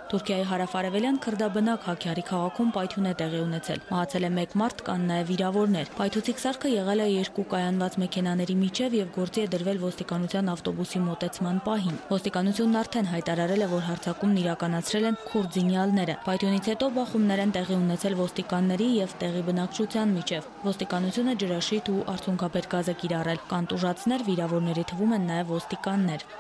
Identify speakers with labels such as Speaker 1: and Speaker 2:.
Speaker 1: Թուրքիայի հարավարևելյան քրդաբնակ Հաքյարի քաղաքում պայթյուն է տեղի ունեցել։ Մահացել է 1 մարդ, կան նաև վիրավորներ։ Պայթուցիկ սարքը եղել է 2 կայանված մեքենաների միջև եւ գործի է դրվել ոստիկանության ավտոբուսի մոտեցման պահին։ Ոստիկանությունն արդեն հայտարարել է, որ հարձակումն իրականացրել են քուրդ զինյալները։ Պայթյունից հետո բախումներ են տեղի ունեցել ոստիկանների եւ տեղի բնակչության միջև։ Ոստիկանությունը ջրաշիթ ու արցունքաբեր գազ է կիրառել։ Կան տուժածներ, վիրավորների թվում են նաև ոստիկաններ։